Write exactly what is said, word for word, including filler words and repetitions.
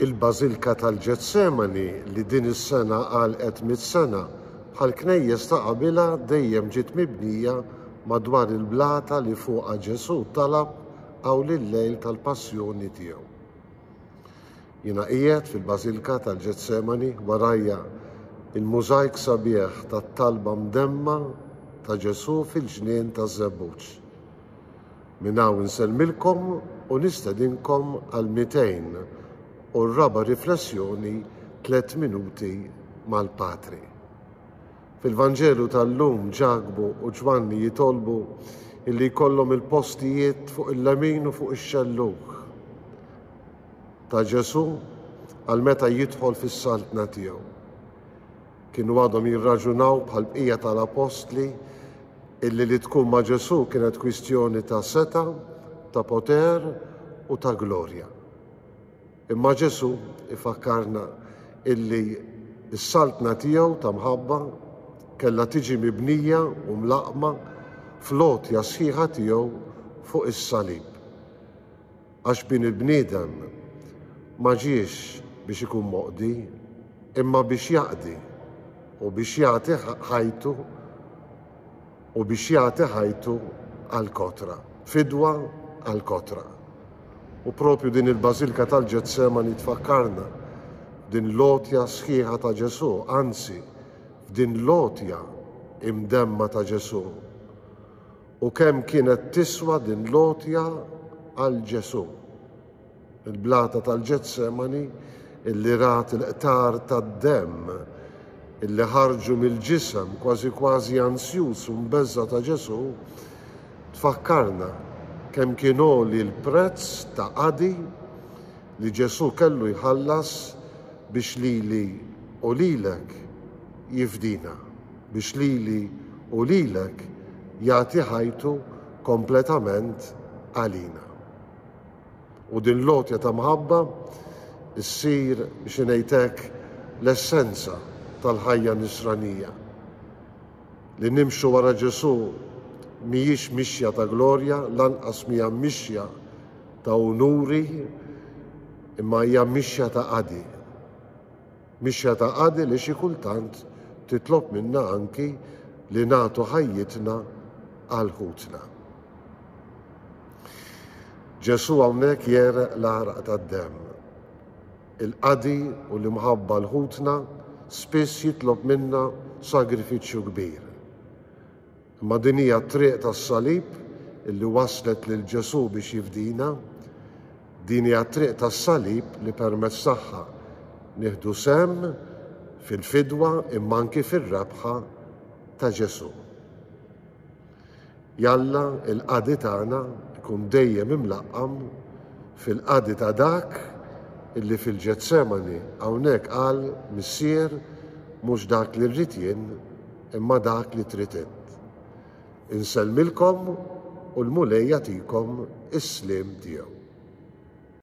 Il-Bażilka tal-Ġetsemani, li din is-sena għalqet mitt sena, bħal knejjes ta' qabilha dejjem ġiet mibnija madwar il-blata li fuqha Ġesù talab hawn il-lejl tal-passjoni tiegħu. Jiena qiegħed fil-Bażilka tal-Ġetsemani, warajja il-mużajk sabiħ tat-talba mdemma ta' Ġesù fil-ġnien taż-Żebbuġ. Minn hawn insellmilkom u nistedinkom għal mitejn u r-raba' riflessjoni, Tliet Minuti mal-Patri. Fil-Vanġelu tal-lum, Ġakbu u Ġwanni jitolbu illi jkollhom il-postijiet fuq il-lemin u fuq ix-xellug ta' Ġesù għal meta jidħol fis-saltna tiegħu. Kienu għadhom jirraġunaw bħal bqija tal-apostli illi li tkun ma' Ġesù kienet kwistjoni ta' seta, ta' poter u ta' glorja. Imma Ġesù ifakkarna illi s-saltna tiegħu ta' mħabba kellha tiġi mibnija u mlaqma fl-għotja sħiħa tiegħu fuq is-salib. Għax bin il-bniedem ma ġiex biex ikun moqdi, imma biex jaqdi u biex jagħti ħajtu u biex jagħti ħajtu għal-kotra, fidwa għal-kotra. U propju din il-Bażilka tal-Ġetsemani tfakkarna din l-għotja sħiħa ta' Ġesù, anzi, f'din l-għotja imdemma ta' Ġesù. U kemm kienet tiswa din l-għotja għal Ġesù. Il-blata tal-Ġetsemani illi rat il-qtar tad-demm illi ħarġu mill-ġisem kważi kważi ansjus u mbeżza ta' Ġesù, tfakkarna kemm kien għoli l-prezz ta' qadi li Ġesù kellu jħallas biex lili u lilek jifdina, biex lili u lilek jagħti ħajtu kompletament għalina. U din l-għotja ta' mħabba issir, biex ngħidlek, l-essenza tal-ħajja nisranija. Li nimxu wara Ġesù mhijiex mixja ta' glorja, lanqas mhija mixja ta' unuri, imma hija mixja ta' qadi. Mixja ta' qadi li xi kultant titlob minna anki li nagħtu ħajjitna għal ħutna. Ġesù hawnhekk jereq l-għaraq tad-demm. Il-qadi u l-imħabba l-ħutna spiss jitlob minna sagrifiċċju kbir. Imma din hija t-triq tas-salib illi waslet lil Ġesù biex jifdina, din hija t-triq tas-salib li permezz tagħha nieħdu sehem fil-fidwa imma anki fir-rebħa ta' Ġesù. Jalla il-qadi tagħna ikun dejjem imlaqqam fil-qadi ta' dak illi fil-Ġetsemani hawnhekk qal: Missier, mhux dak li rrid jien, imma dak li trid int. Insellmilkom u l-Mulej jagħtikom is-sliem tiegħu.